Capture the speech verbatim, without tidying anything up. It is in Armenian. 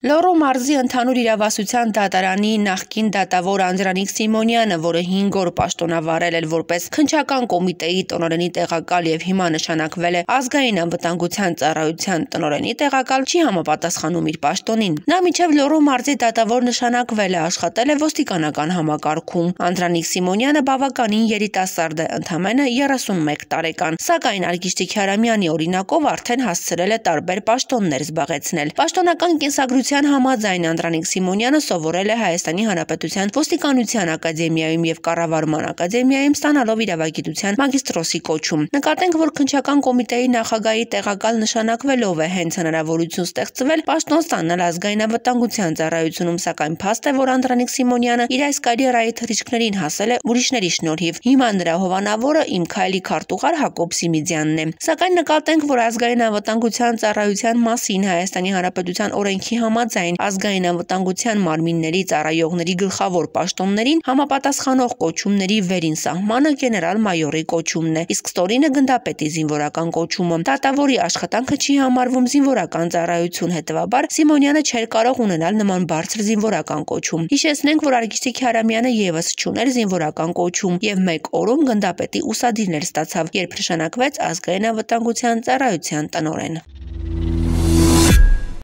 Լոռու մարզի ընդհանուր իրավասության դատարանի նախկին դատավոր Անդրանիկ Սիմոնյանը, որը հինգ օր պաշտոնավարել էր որպես քննչական կոմիտեի տնօրենի տեղակալ եւ հիմա նշանակվել է ազգային անվտանգության ծառայության տնօրենի տեղակալ, չի համապատասխանում իր պաշտոնին։ Նա մինչև Լոռու մարզի դատավոր նշանակվել է, աշխատել է ոստիկանական համակարգում։ Անդրանիկ Սիմոնյանը բավականին երիտասարդ է, ընդամենը երեսունմեկ տարեկան, սակայն Արգիշտի Քյարամյանի օրինակով արդեն հասցրել է տարբեր պաշտոններ զբաղեցնել։ Պաշտոնական կենսագրության համաձայն Անդրանիկ Սիմոնյանը սովորել է Հայաստանի Հանրապետության ոստիկանության ակադեմիայում եւ կառավարման ակադեմիայում, ստանալով իրավագիտության մագիստրոսի կոչում։ Նկատենք, որ քննչական կոմիտեի նախագահի տեղակալ նշանակվելով է հենց հնարավորություն ստեղծվել պաշտոն ստանալ ազգային անվտանգության ծառայությունում, սակայն փաստ է, որ Անդրանիկ Սիմոնյանը իր այս կարիերայի թռիչքներին հասել է ուրիշների շնորհիվ։ Հիմա նրա հովանավորը իմ քայլի քարտուղար Հակոբ Սիմիդյանն է։ Սակայն նկատենք, որ ազգային անվտանգության ծառայության մասին Հայաստանի Հանրապետության օրենքի համաձայն ազգային անվտանգության մարմինների ծառայողների գլխավոր պաշտոններին համապատասխանող կոչումների վերին սահմանը գեներալ-մայորի կոչումն է, իսկ ստորինը գնդապետի զինվորական կոչումը։ Դատավորի աշխատանքը չի համարվում զինվորական ծառայություն, հետևաբար Սիմոնյանը չէր կարող ունենալ նման բարձր զինվորական կոչում։ Հիշեցնենք, որ Արգիշտի Քյարամյանը եւս չուներ զինվորական կոչում եւ մեկ օրում գնդապետի ուսադիրներ ստացավ, երբ նշանակվեց ազգային անվտանգության ծառայության տնօրեն։